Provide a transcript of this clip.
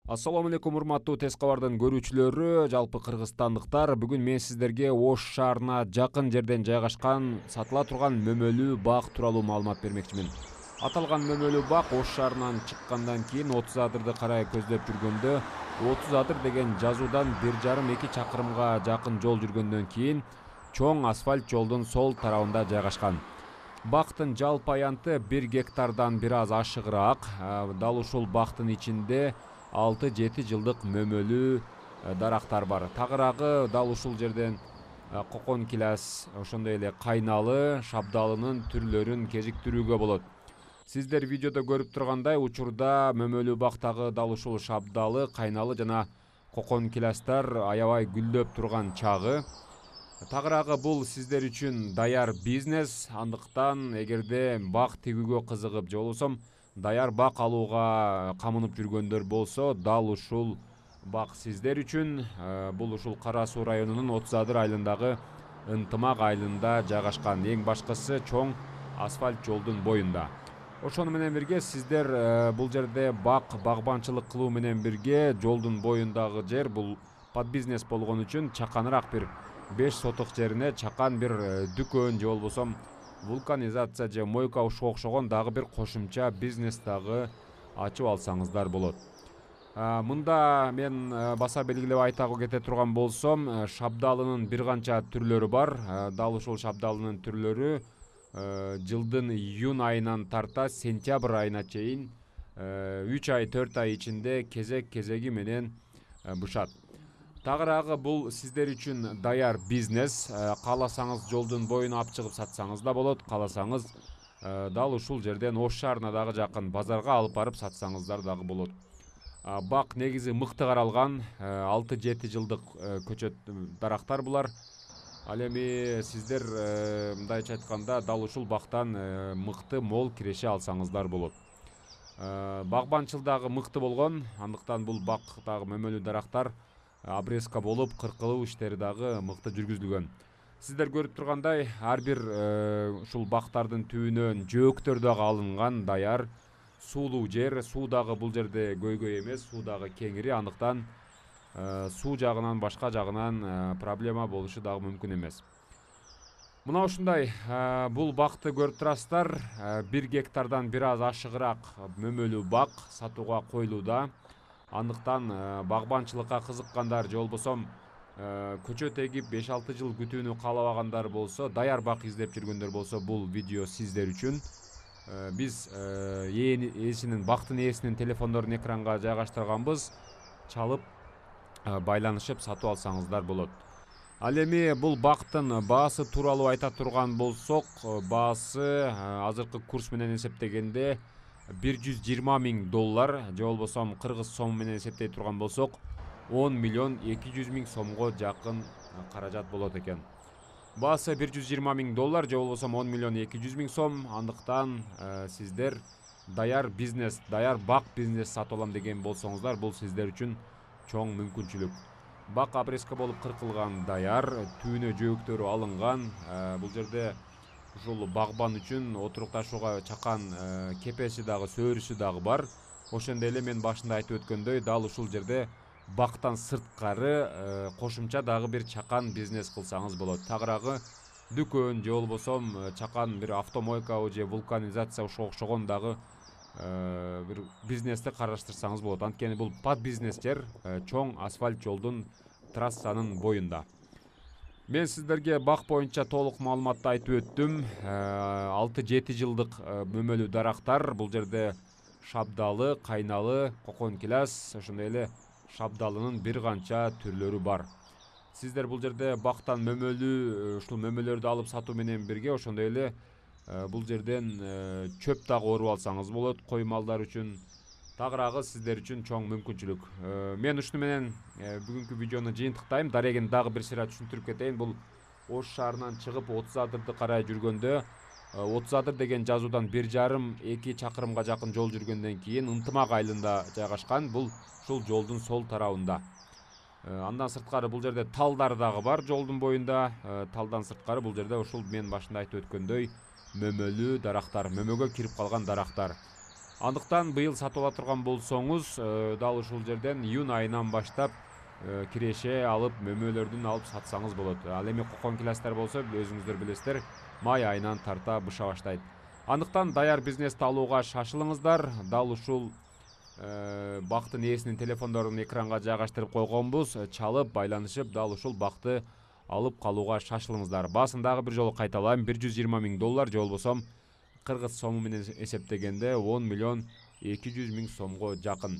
Ассаламу алейкум, урматтуу Тез кабардын көрүүчүлөрү, жалпы кыргызстандыктар. Бүгүн мен сиздерге Ош шаарына жакын жерден жайгашкан сатыла турган мөмөлүү бак тууралуу маалымат бермекчимин. Аталган мөмөлүү бак Ош шаарынан чыккандан кийин 30 адырды карай көздөп жүргөндө 30 адыр деген жазуудан 1,5-2 чакырымга жакын жол жүргөндөн кийин чоң асфальт жолдун сол тарабында жайгашкан. Бактын жалпы аянты 1 гектардан бир аз ашыгыраак. Дал ушул бактын ичинде 6-7 жылдык мөмөлүү дарактар бар. Тагыраагы дал ушул жерден кокон килас, ошондой эле кайналы, шабдалынын түрлөрүн кезиктирүүгө болот. Сиздер видеодо көрүп тургандай учурда мөмөлүү бактагы дал ушул шабдалы, кайналы жана кокон киластар аябай гүлдөп турган чагы. Тагыраагы бул сиздер үчүн даяр бизнес. Андыктан эгерде бак тигүүгө кызыгып же болбосо даяр бак алууга камынып жүргөндөр болсо, дал ушул бак сиздер үчүн. Бул ушул Кара Суу районунун 30 адыр айылындагы Ынтымак айылында жайгашкан. Эң башкысы чоң асфальт жолдун боюнда. Ошону менен бирге сиздер бул жерде багбанчылык кылуу менен бирге жолдун боюндагы жер бул под бизнес болгон үчүн чаканыраак бир 5 соток жерине чакан бир дүкөн же болбосо вулканизация же мойка окшогон дагы бир кошумча бизнес дагы ачып алсаңыздар болот. Мында мен баса белгилеп айта кете турган болсом, шабдалынын бир канча түрлөрү бар. Дал ушул шабдалынын түрлөрү жылдын июнь айынан тарта сентябрь айына чейин 3 ай 4 ай ичинде кезеги менен бышат. Тагыраагы бул сиздер үчүн даяр бизнес. Кааласаңыз жолдун боюна алып чыгып сатсаңыз да болот, кааласаңыз дал ушул жерден Ош шаарына дагы жакын базарга алып барып сатсаңыздар дагы болот. Бак негизи мыкты каралган, 6-7 жылдык көчөт дарактар булар. Ал эми сиздер мындайча айтканда дал ушул бактан мыкты мол киреше алсаңыздар болот. Багбанчылыгы мыкты болгон, андыктан бул бактагы мөмөлүү дарактар обрезка болуп, кыркылуу иштери дагы мыкты жүргүзүлгөн. Сиздер көрүп тургандай, ар бир ушул бактардын түбүнөн жөөктөр дагы алынган, даяр суулуу жер. Суу дагы бул жерде көйгөй эмес, суу дагы кеңири, андыктан суу жагынан башка жагынан проблема болушу дагы мүмкүн эмес. Мына ушундай бул бакты көрүп турасыздар. 1 гектардан бир аз ашыгыраак мөмөлүү бак сатууга коюлууда. Андыктан багбанчылыкка кызыккандар же болбосо көчөт эгип 5-6 жыл күтүүнү каалабагандар болсо, даяр бак издеп жүргөндөр болсо, бул видео сиздер үчүн. Биз бактын ээсинин телефондорун экранга жайгаштырганбыз. Чалып байланышып сатып алсаңыздар болот. Ал эми бул бактын баасы тууралуу айта турган болсок, баасы азыркы курс менен эсептегенде $120 000 же болбосо кыргыз сому менен эсептей турган болсок, 10 миллион 200 000 сомго жакын каражат болот экен. Баасы $120 000 же болбосо 10 миллион 200 000 сом. Андыктан сиздер даяр бизнес, даяр бак бизнес сатып алам деген болсоңуздар, бул сиздер үчүн чоң мүмкүнчүлүк. Бак обрезка болуп кыркылган, даяр, түбүнө жөөктөрү алынган. Бул жерде ушул багбан үчүн отурукташууга чакан кепеси дагы, сөөрүсү дагы бар. Ошондой эле мен башында айтып өткөндөй, дал ушул жерде бактан сырткары кошумча дагы бир чакан бизнес кылсаңыз болот. Тагыраагы дүкөн же болбосо чакан бир автомойка же вулканизация окшогон дагы бир бизнести караштырсаңыз болот. Анткени бул под бизнес жер, чоң асфальт жолдун трассанын боюнда. Мен сиздерге бак боюнча толук маалыматты айтып өттүм. 6-7 жылдык мөмөлүү дарактар. Бул жерде шабдалы, кайналы, кокон килас, ошондой эле шабдалынын бир канча түрлөрү бар. Сиздер бул жерде бактан мөмөлүү ушул мөмөлөрдү алып сатуу менен бирге ошондой эле бул жерден чөп дагы оруп алсаңыз болот кой малдар үчүн. Тагыраагы сиздер үчүн чоң мүмкүнчүлүк. Мен ушуну менен бүгүнкү видеону жыйынтыктайм. Дарегин дагы бир сыйра түшүндүрүп кетейин. Бул Ош шаарынан чыгып 30 адырды карай жүргөндө 30 адыр деген жазуудан 1,5-2 чакырымга жакын жол жүргөндөн кийин Ынтымак айылында жайгашкан. Бул ушул жолдун сол тарабында. Андан сырткары бул жерде талдар дагы бар жолдун боюнда. Талдан сырткары бул жерде ушул мен башында айтып өткөндөй мөмөлүү дарактар, мөмөгө кирип калган дарактар. Андыктан быйыл сатып ала турган болсоңуз, дал ушул жерден июнь айынан баштап киреше алып, мөмөлөрдүн алып сатсаңыз болот. Ал эми кокон киластар болсо, өзүңүздөр билесиздер, май айынан тарта быша баштайт. Андыктан даяр бизнести алууга шашылыңыздар. Дал ушул бактын ээсинин телефондорун экранга жайгаштырып койгонбуз. Чалып, байланышып, дал ушул бакты алып калууга шашылыңыздар. Баасын дагы бир жолу кайталайм, $120 000 же болбосо кыргыз сому менен эсептегенде 10 миллион 200 000 сомго жакын.